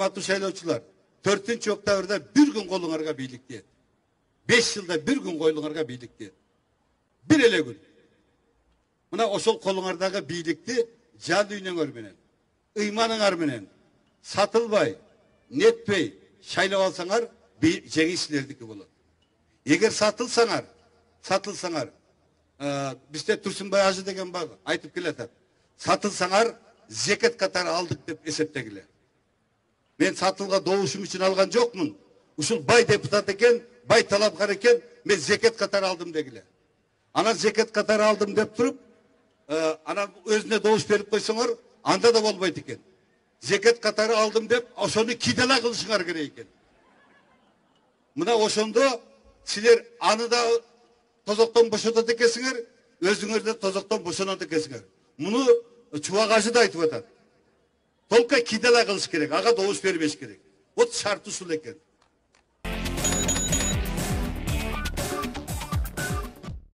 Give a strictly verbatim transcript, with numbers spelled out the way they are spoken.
урматтуу шайлоочулар, төртүнчү октябрда бир күн колуңарга бийлик тиет. беш жылда бир күн колуңарга бийлик тиет. Бир эле күн. Мына ошол колуңардагы бийликти жан дүйнөңөр менен, ыйманыңар менен сатылбай, нетпей шайлап алсаңар, жеңиш силердики болот. Эгер сатылсаңар, сатылсаңар, бизде Турсунбай ажы деген бар, айтып келатат. Сатылсаңар, зекет катары алдык деп эсептегиле. Мен сатылга добушум үчүн алган жокмун. Ушул бай депутат экен, бай талапкар экен, мен зекет катары алдым дегиле. Анан зекет катары алдым деп туруп, анан өзүнө добуш берип койсоңор, анда да болбойт экен. Зекет катары алдым деп, ошону кидала кылышыңар керек экен. Мына ошондо силер аны да тозоктон бошотот экенсиңер, өзүңөр да тозоктон бошонот экенсиңер. Муну Чубак ажы да айтып атат. Толка кидала кылыш керек, ага добуш бербеш керек. Вот шарты ушул экен.